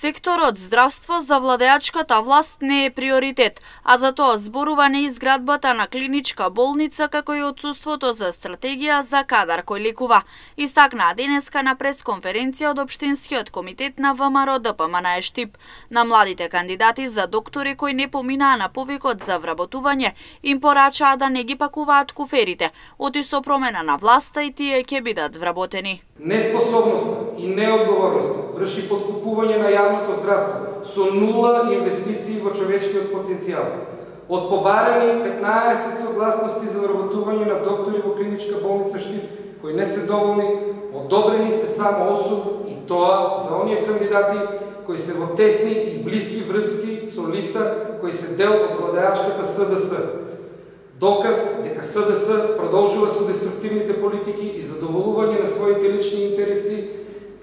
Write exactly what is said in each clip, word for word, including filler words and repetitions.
Секторот здравство за владеачката власт не е приоритет, а за тоа зборува неизградбата на клиничка болница како и отсуството за стратегија за кадар кој лекува. Истакнаа денеска на пресконференција од Општинскиот комитет на ВМРО ДПМН Штип. На младите кандидати за доктори кои не поминаа на повикот за вработување, им порачаа да не ги пакуваат куферите, оти со промена на власта и тие ќе бидат вработени. Неспособноста и неодговорноста врши подкупување на јавното здравство со нула инвестиции во човечкиот потенцијал. Од побарани петнаесет согласности за вработување на доктори во клиничка болница Штип, кои не се доволни, одобрени се само осум и тоа за оние кандидати кои се во тесни и блиски врски со лица кои се дел од владеачката СДС. Доказ дека СДС продолжува со деструктивните политики и задоволување на своите лични интереси,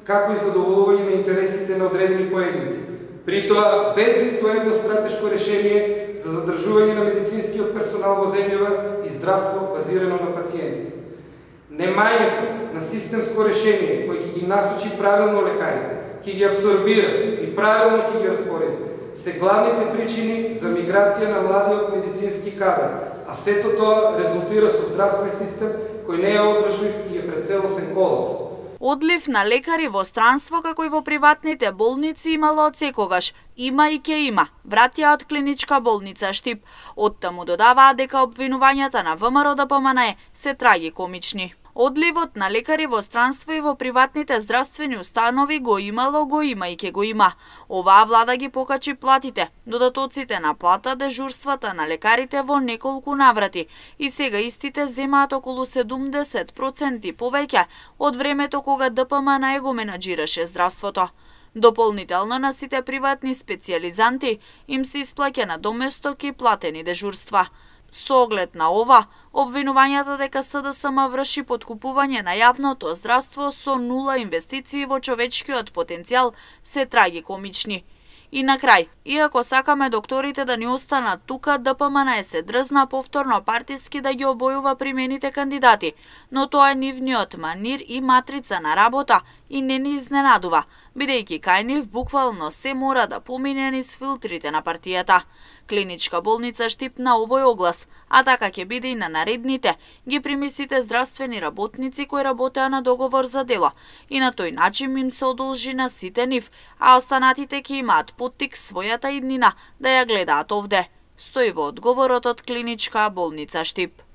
како и задоволување на интересите на одредени поединци. При тоа, без ниту едно стратешко решение за задржување на медицинскиот персонал во земјава и здравство базирано на пациентите. Немањето на системско решение кој ќе ги насочи правилно лекарите, ќе ги абсорбира и правилно ќе ги распореди, се главните причини за миграција на младиот медицински кадар, а сето тоа резултира со здравствен систем кој не е одржлив и е пред целосен колапс. Одлив на лекари во странство како и во приватните болници имало од секогаш. Има и ќе има, вратија од клиничка болница Штип. Оттаму додаваа дека обвинувањата на ВМРО ДПМН се трагикомични. Одливот на лекари во странство и во приватните здравствени установи го имало, го има и ќе го има. Оваа влада ги покачи платите, додатоците на плата, дежурствата на лекарите во неколку наврати и сега истите земаат околу седумдесет проценти повеќе од времето кога ДПМН го менаџираше здравството. Дополнително на сите приватни специјализанти им се исплаќа на доместок и платени дежурства. Со оглед на ова, обвинувањата дека СДСМ врши подкупување на јавното здравство со нула инвестиции во човечкиот потенцијал се трагикомични. И на крај, иако сакаме докторите да ни останат тука, ДПМН се дрзна повторно партиски да ги обојува примените кандидати, но тоа е нивниот манир и матрица на работа и не ни изненадува, бидејќи кај нив буквално се мора да помине низ филтрите на партијата. Клиничка болница Штип на овој оглас, а така ќе биде и на наредните, ги прими сите здравствени работници кои работеа на договор за дело и на тој начин им се одолжи на сите нив, а останатите ќе имаат поттик својата иднина да ја гледаат овде, стои во одговорот од клиничка болница Штип.